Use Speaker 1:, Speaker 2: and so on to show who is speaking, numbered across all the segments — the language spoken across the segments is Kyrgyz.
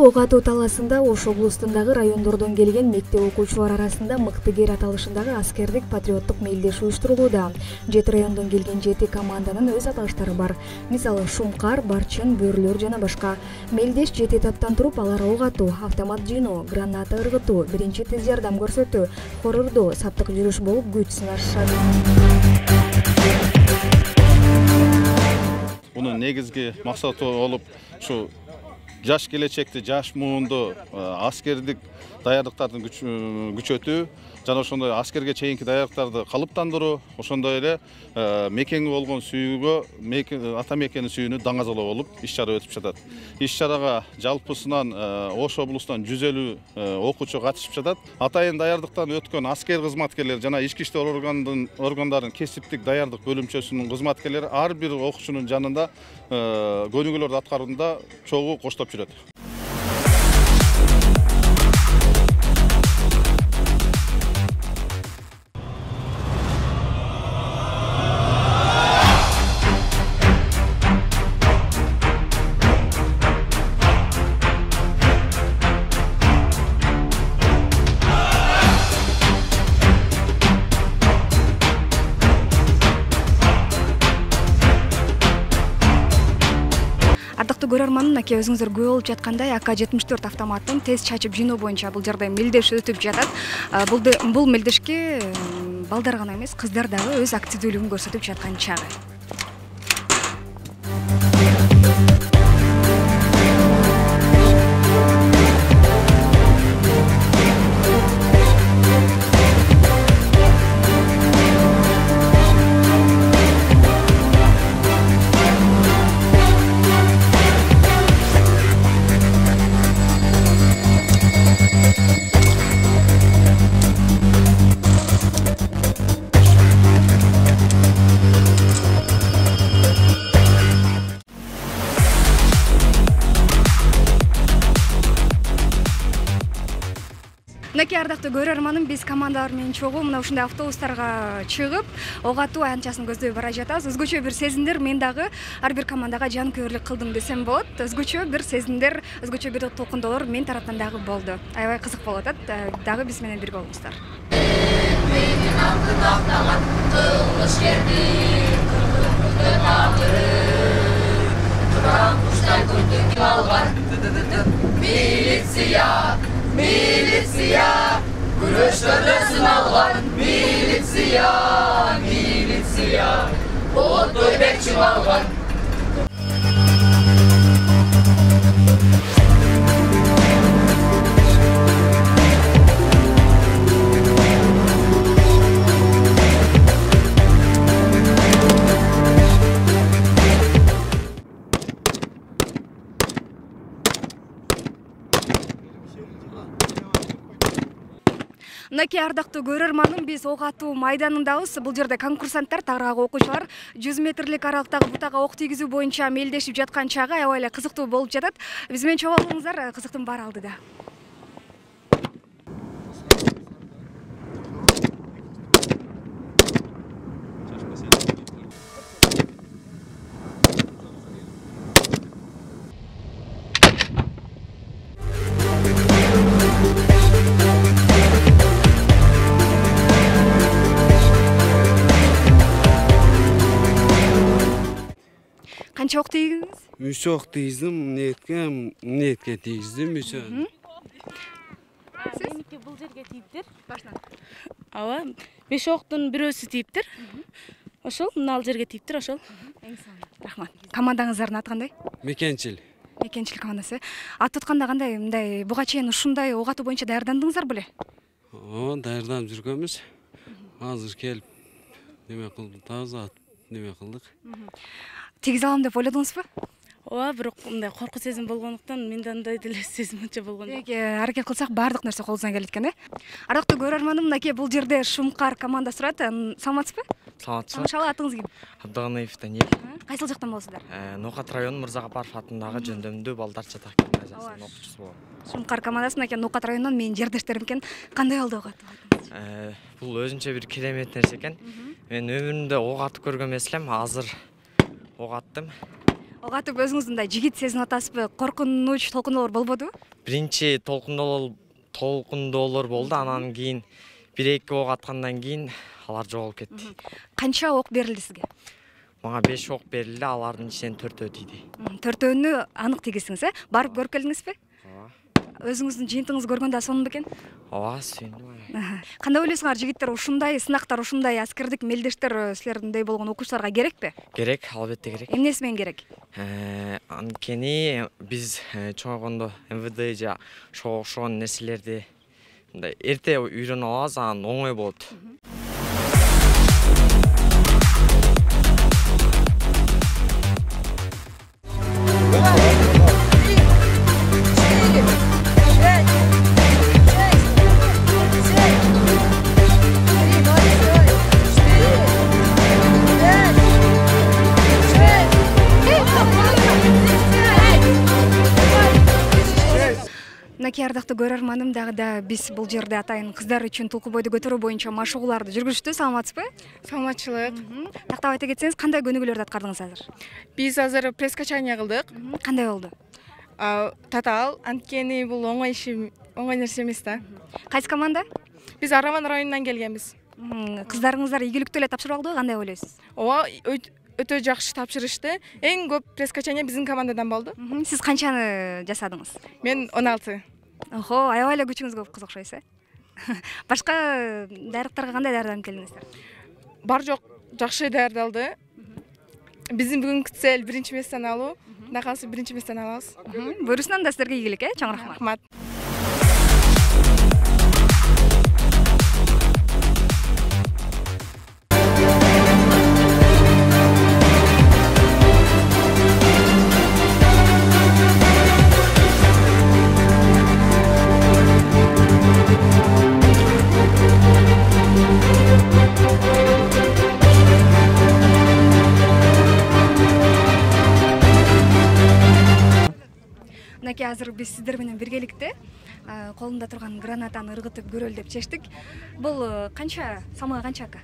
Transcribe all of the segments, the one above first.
Speaker 1: ок атуу талаасында Ош облусундагы райондордон келген мектеп окуучулары арасында мыктыгер аталышындагы аскердик патриоттук мелдеш уюштурулууда. 7 райондон келген 7 команданын өз аталыштары бар. Мисалы Шумкар, Барчын, Бөрлөр жана башка. Мелдеш 7 этаптан туруп алар ок атуу, автомат жыйноо, граната ыргытуу, биринчи тез жардам көрсөтүү, хор урдоо, саптык жүрүш болуп күч сынашышат.
Speaker 2: Bunun негизги максаты болуп, ушу жаш келечекти, жаш муунду аскердик даярдыктарды күчөтүү жана ошондой аскерге чейинки даярдыктарды калыптандыруу, ошондой эле мекенге болгон сүйүүгө, ата мекенин сүйүүнү даңазалоо болуп иш-чара өтүп жатат. Иш-чарага жалпысынан Ош облусунан 150 окуучу катышып жатат. Атайын даярдыктан өткөн аскер кызматкерлери жана ички иштер органдарынын кесиптик даярдык бөлүмчөсүнүн кызматкерлери ар бир окуучунун жанында көнүгүүлөрдү аткарууда чогуу коштоп жүрөт.
Speaker 1: Ардактуу көрөрман, аке өзүңүздөр күбө болуп жаткандай АК-74 автоматтын тез чачып жыйноо боюнча бул жерде мелдеш өтүп жатат. Бул мелдешке балдар гана эмес, кыздар дагы өз активдүүлүгүн көрсөтүп жаткан чагы. Мынакей ардактуу көрөрманым, биз командалар менен чогуу мына ушундай автобустарга чыгып, ок атуу аянтчасын көздөй бара жатабыз. Өзгөчө бир сезимдер мен дагы ар бир командага жанкүйерлүк кылдым десем болот. Өзгөчө бир сезимдер, өзгөчө бир толкундоолор мен тараптан дагы болду. Аябай кызык болуп атат. Дагы биз менен бирге болуңуздар.
Speaker 3: Militsiya, күрөштөрдө сыналган милиция, болоттой бек чыңалган.
Speaker 1: Мынакей ардактуу көрөрманым, биз ок атуу майданындабыз. Бул жерде конкурсанттар, тагыраагы окуучулар 100 метрлик аралыктагы бутага ок тийгизүү боюнча мелдешип жаткан чагы аябай эле кызыктуу болуп жатат. Биз менен чогуу болуңуздар, кызыктын баары алдыда. Канча ок тийгиздиңиз?
Speaker 4: 3 ок тийгиздим, эмнетке тийгиздим 3.
Speaker 5: Меники бул жерге тийиптир.
Speaker 1: Башынан.
Speaker 5: Ооба, 5 октун бирөөсү тийиптир. Ошол мына ал жерге тийиптир, ошол.
Speaker 1: Эң сонун. Рахмат. Командаңыздардын аты кандай?
Speaker 4: Мекенчил.
Speaker 1: Мекенчил командасы. Ат тутканда кандай, мындай буга чейин ушундай ок атуу боюнча даярдандыңыздар беле?
Speaker 4: Даярданып жүргөнбүз. Азыр келип неме кылдык, таза неме кылдык.
Speaker 1: Тийгизе алам деп ойлодуңузбу?
Speaker 5: Ооба, бирок мындай коркуу сезим болгондуктан менде андай деле сезим анча болгон жок.
Speaker 1: Аракет кылсак баардык нерсе колубуздан келет экен, Ардактуу көрөрманым, мынакей бул жерде Шумкар командасы турат. Саламатсызбы?
Speaker 6: Саламатсызбы.
Speaker 1: Ошол атыңыз ким?
Speaker 6: Абдыганаев Даниил.
Speaker 1: Кайсыл жактан болосуздар?
Speaker 6: Нокат району Мырзагапаров атындагы жөндөмдүү балдар жатак гимназиясынын окуучусу болом.
Speaker 1: Шумкар командасы мынакей Нокат районунан менин жердештерим экен. Кандай болду ок атуу?
Speaker 6: Бул өзүнчө бир керемет нерсе экен. Мен өмүрүмдө ок атып көргөн эмес элем, азыр ок аттым.
Speaker 1: Ого атып өзүңүз мындай жигит сезинип атасызбы? Коркунуч, толкундоолор болбодубу?
Speaker 6: Биринчи толкундоолор болду, анан кийин 1-2 ок аткандан кийин алар жоголуп кетти.
Speaker 1: Канча ок берилди сизге?
Speaker 6: Мага 5 ок берилди, алардын ичинен 4 тийди.
Speaker 1: 4-өөнү анык тийгизсиңиз, Барып көрүп келдиңизби?
Speaker 6: Ооба.
Speaker 1: Өзүңүздүн жыйынтыгыңызды көргөндө да сонун бекен?
Speaker 6: Ооба, сүйүндүм.
Speaker 1: Кандай ойлойсуңар, жигиттер ушундай сынактар, ушундай аскердик мелдештер силердей болгон окуучуларга керекпи?
Speaker 6: Керек, албетте керек.
Speaker 1: Эмнеси менен керек?
Speaker 6: Анткени биз чоңойгондо МВД же ошого окшогон нерселерди мындай эрте үйрөнүп алабыз, анан оңой болот.
Speaker 1: Мынакей ардактуу көрөрманым, дагы да биз бул жерде атайын кыздар үчүн тулку бойду көтөрүү боюнча машыгууларды жүргүзүштү. Саламатсызбы?
Speaker 7: Саламатчылык.
Speaker 1: Тактап айта кетсеңиз, кандай көнүгүүлөрдү аткардыңыз азыр?
Speaker 7: Биз азыр пресс-качание кылдык.
Speaker 1: Кандай болду?
Speaker 7: Татаал, анткени бул оңой нерсе эмес да.
Speaker 1: Кайсы команда?
Speaker 7: Биз Араван районунан келгенбиз.
Speaker 1: Кыздарыңыздар ийгиликтүү эле тапшырып алдыбы? Кандай ойлойсуз?
Speaker 7: Ооба, өтө жакшы тапшырышты. Эң көп пресс-качание биздин командадан болду.
Speaker 1: Сиз канчаны жасадыңыз?
Speaker 7: Мен 16.
Speaker 1: Охо, аябай эле күчүңүз көп кыз окшойсуз, Башка дайрыктарга кандай даярданып келдиңиздер?
Speaker 7: Бар жок жакшы даярдалды. Биздин бүгүнкү цель 1-месттен алуу. Кудай кааласа 1-месттен алабыз.
Speaker 1: Буюрсун анда силерге ийгилик, чоң рахмат.
Speaker 7: Рахмат.
Speaker 1: Мынакей азыр биз сиздер менен биргеликте колунда турган гранатаны ыргытып көрөлү деп чечтик. Бул канча, салмагы канча ака?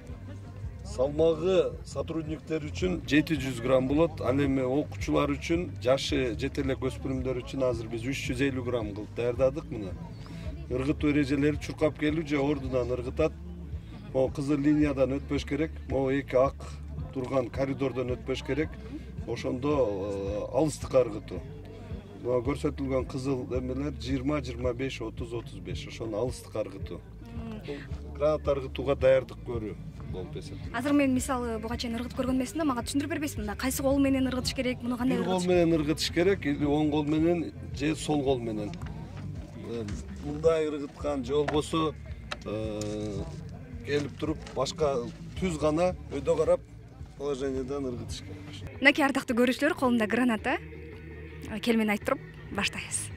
Speaker 8: Салмагы сотрудниктер үчүн 700 грамм болот. Ал эми окуучулар үчүн, жашы жете элек өспүрүмдөр үчүн азыр биз 350 грамм кылып даярдадык мына. Ыргытуу эрежелери чуркап келүү же ордунан ыргытат. Могу кызыл линиядан өтпөш керек. Могу эки ак турган коридордон өтпөш керек. Ошондо алыстыкка ыргытуу. Көрсөтүлгөн кызыл эмелер 20, 25, 30, 35. Ошону алыстыкка ыргытуу. Граната ыргытууга даярдык көрүү болуп эсептелет.
Speaker 1: Азыр мен мисалы буга чейин ыргытып көргөн эмесмин да, мага түшүндүрүп бербейсизби? Мында кайсы кол менен ыргытыш керек, муну кандай
Speaker 8: Бир кол менен ыргытыш керек, или оң кол менен же сол кол менен. Мындай ыргыткан же болбосо келип туруп башка түз гана өйдө карап положениедан ыргытыш керек.
Speaker 1: Мынакей ардактуу көрүүчүлөр, колумда граната. Келмени айтып туруп баштайбыз.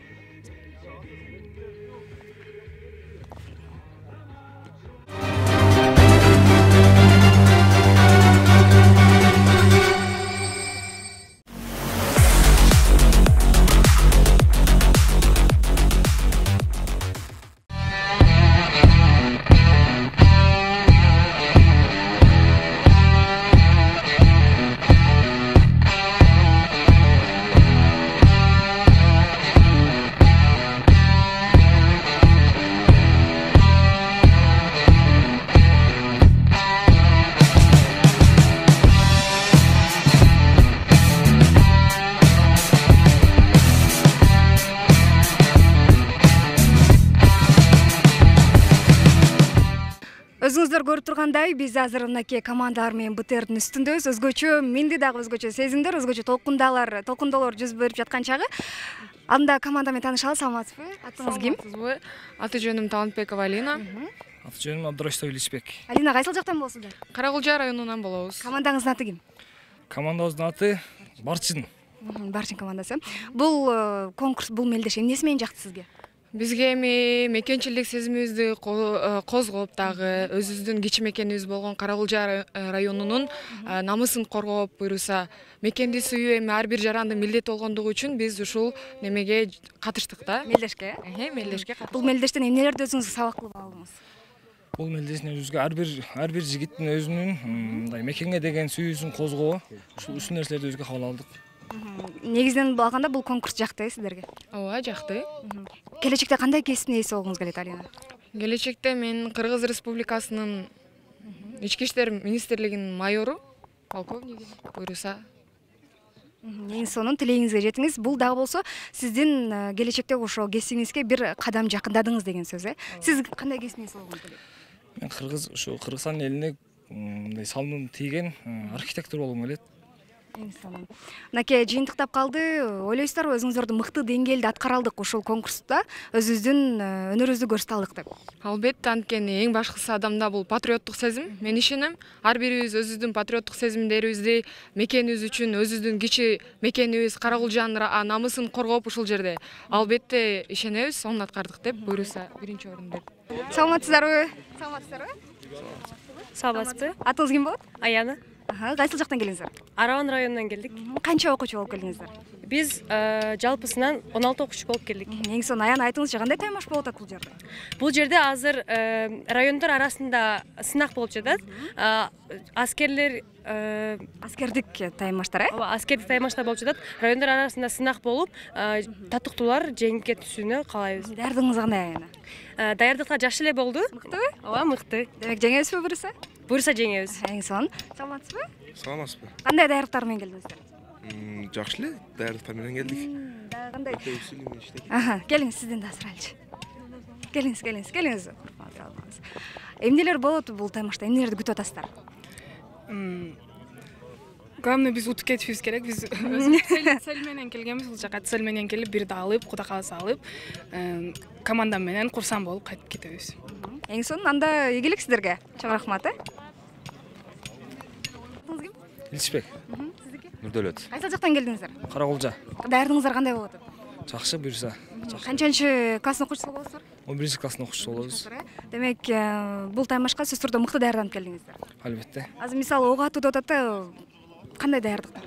Speaker 1: Өзүңүздөр көрүп тургандай, биз азыр мынакей командалар менен БТРдин үстүндөбүз. Өзгөчө менде дагы өзгөчө сезимдер, өзгөчө толкундоолор жүзүп берип жаткан чагы. Анда команда менен таанышалы. Саламатсызбы? Атыңыз ким?
Speaker 7: Аты жөнүм Талантбекова Алина.
Speaker 9: Аты жөнүм Абдурашитов Илисбек.
Speaker 1: Алина, кайсыл жактан болосуздар?
Speaker 7: Каракулжа районунан болобуз.
Speaker 1: Командаңыздын аты ким?
Speaker 9: Командабыздын аты Барчын.
Speaker 1: Барчын командасы. Бул конкурс, бул мелдеш эмнеси менен жакты сизге?
Speaker 7: Бизге эми мекенчилик сезимибизди козгоп, дагы өзүбүздүн кичи мекенибиз болгон Каракулжа районунун намысын коргоп, буюрса мекенди сүйүү эми ар бир жарандын милдети болгондугу үчүн биз ушул немеге катыштык да.
Speaker 1: Мелдешке?
Speaker 7: Мелдешке катыштык.
Speaker 1: Бул мелдештен эмнелерди өзүңүз сабак кылып алдыңыз?
Speaker 9: Бул мелдештен өзүбүзгө ар бир жигиттин өзүнүн мындай мекенге деген сүйүүсүн козгоо, ушул нерселерди өзүгө кабыл алдык.
Speaker 1: Негизинен алганда бул конкурс жакты сиздерге?
Speaker 7: Ооба, жакты.
Speaker 1: Келечекте кандай кесиптин ээси болгуңуз келет, Алина?
Speaker 7: Келечекте мен Кыргыз Республикасынын Ички иштер министрлигинин майору, полковниги буйруса.
Speaker 1: Эң сонун тилегиңизге жетиңиз. Бул дагы болсо сиздин келечектеги ошо кесибиңизге бир кадам жакындадыңыз деген сөз, Сиз кандай кесиптин ээси болгуңуз келет?
Speaker 9: Мен Кыргызстан элине мындай салымым тийген архитектор болгум келет.
Speaker 1: Эң сонун. Мынакей жыйынтыктап калды. Ойлойсуздарбы, өзүңүздөрдү мыкты деңгээлде аткара алдык ушул конкурста, өзүбүздүн өнөрүбүздү көрсөтө алдык деп?
Speaker 7: Албетте, анткени эң башкысы адамда бул патриоттук сезим. Мен ишенем, ар бирибиз өзүбүздүн патриоттук сезимдерибизди, мекенибиз үчүн, өзүбүздүн кичи мекенибиз Каракулжанын намысын коргоп ушул жерде албетте ишенебиз, сонун аткардык деп буйруса биринчи орун берди.
Speaker 1: Саламатсыздарбы?
Speaker 5: Саламатсызбы?
Speaker 1: Атыңыз ким болот?
Speaker 5: Аяна.
Speaker 1: Кайсыл жактан келдиңиздер?
Speaker 5: Араван районунан келдик.
Speaker 1: Канча окуучу болуп келдиңиздер?
Speaker 5: Биз жалпысынан 16 окуучу болуп келдик.
Speaker 1: Эң сонун, Аяна, айтыңызчы, кандай таймаш болуп атат бул жерде?
Speaker 5: Бул жерде азыр райондор арасында сынак болуп жатат.
Speaker 1: Аскердик таймаштар,
Speaker 5: Ооба, аскердик таймаштар болуп жатат. Райондор арасында сынак болуп, татыктуулар жеңипке түшүүнү каалайбыз.
Speaker 1: Даярдыгыңыз кандай, Аяна?
Speaker 5: Даярдыктар жакшы эле болду.
Speaker 1: Мыктыбы?
Speaker 5: Ооба, мыкты.
Speaker 1: Демек жеңебизби буюрса?
Speaker 5: Буюрса жеңебиз.
Speaker 1: Эң сонун. Саламатсызбы?
Speaker 10: Саламатсызбы?
Speaker 1: Кандай даярдыктар менен келдиңиздер?
Speaker 10: Жакшы эле, даярдыктар менен келдик.
Speaker 1: Кандай? Келиңиз, сизден да сурайлычы. Келиңиз. Эмнелер болот бул таймашта? Эмнелерди күтүп атасыздар?
Speaker 11: Главное, биз утуп кетишибиз керек. Биз цель менен келгенбиз, бул жака цель менен келип, бирди алып, Кудай кааласа алып, команда менен курсан болуп кайтып кетебиз.
Speaker 1: Эң сонун, анда ийгилик сиздерге. Чоң рахмат,
Speaker 9: Иличбек.
Speaker 1: Сиздики?
Speaker 10: Нурдөлөт.
Speaker 1: Кайсыл жактан келдиңиздер?
Speaker 9: Каракулжа.
Speaker 1: Даярдыгыңыздар кандай болуп атат?
Speaker 9: Жакшы буюрса.
Speaker 1: Канчанчы класстын окуучусу болосуздар?
Speaker 9: 11-класстын окуучусу болобуз.
Speaker 1: Демек, бул таймашка сөзсүз түрдө мыкты даярданып келдиңиздер.
Speaker 9: Албетте.
Speaker 1: Азыр мисалы ок атуу деп атат да, кандай даярдыктар?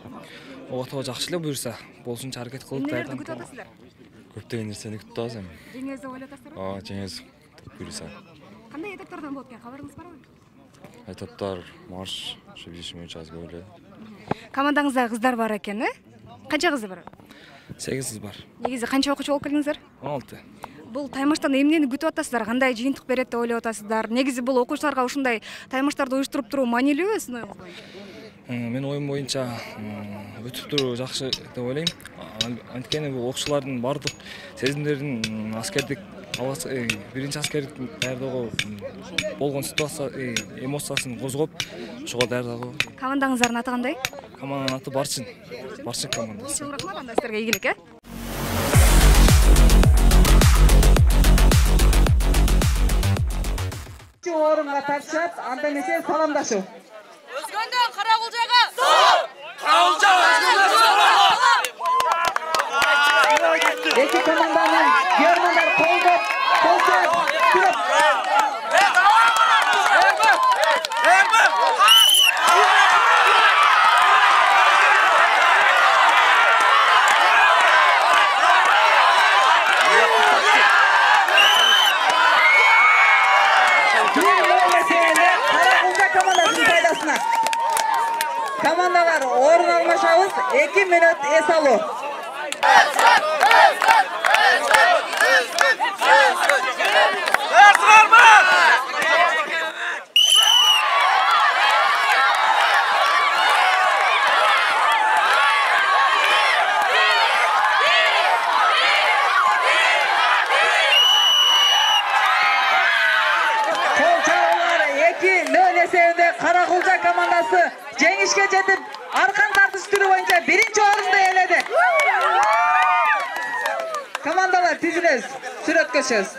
Speaker 9: Ок атууга жакшы эле буюрса, болушунча аракет кылып
Speaker 1: Эмнелерди күтүп атасыздар?
Speaker 10: Көптөгөн нерсени күтүп атабыз эми.
Speaker 1: Жеңебиз деп ойлоп атасыздарбы?
Speaker 10: Ооба, жеңебиз буюрса.
Speaker 1: Кандай этаптардан болот экен, кабарыңыз барбы?
Speaker 10: Этаптар марш, ошо билишим боюнча аз көп эле.
Speaker 1: Командаңызда кыздар бар экен, Канча кыз бар?
Speaker 9: 8 кыз бар.
Speaker 1: Негизи канча окуучу болуп келдиңиздер?
Speaker 9: 16.
Speaker 1: Бул таймаштан эмнени күтүп атасыздар? Кандай жыйынтык берет деп ойлоп атасыздар? Негизи бул окуучуларга ушундай таймаштарды уюштуруп туруу маанилүүбү сиздин оюңуз боюнча?
Speaker 9: Менин оюм боюнча өтүп туруу жакшы деп ойлойм. Анткени бул окуучулардын баардык сезимдерин аскердик биринчи аскердик даярдоого болгон ситуация, эмоциясын козгоп, ошого даярдалуу.
Speaker 1: Командаңыздардын аты кандай?
Speaker 9: Команданын аты Барчын. Барчын командасы.
Speaker 1: Чоң рахмат, анда сиздерге ийгилик,
Speaker 12: орунга тартышат, анда эмесе саламдашуу.
Speaker 3: Өзгөндөн Каракулжага! Салам! Каракулжага өзгөндөн салам!
Speaker 12: Эки команданын германдар колдоп, колсоп, күрөп. Командалар орун алмашабыз, 2 мүнөт эс алуу. Каракулжа командасы жеңишке жетип, аркан тартыш түрү боюнча биринчи орунду ээледи. Командалар тизилебиз, сүрөткөчөбүз.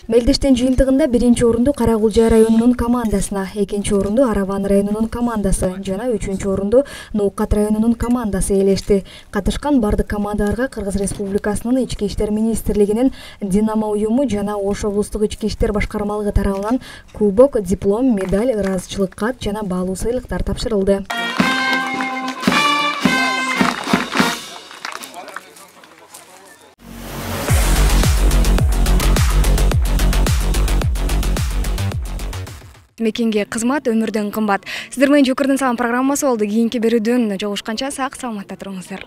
Speaker 1: Мелдештин жыйынтыгында биринчи орунду Каракулжа районунун командасына, экинчи орунду Араван районунун командасы жана үчүнчү орунду Ноокат районунун командасы ээлешти. Катышкан бардык командаларга Кыргыз Республикасынын Ички иштер министрлигинин Динамо уюму жана Ош облустук ички иштер башкармалыгы тарабынан кубок, диплом, медаль, ыраазычылык кат жана баалуу сыйлыктар тапшырылды.
Speaker 13: Мекенге кызмат өмүрдөн кымбат. Сиздер менен Жокурдун салам программасы болду. Кийинки берүүдөн жолугушканча сак саламатта туруңуздар.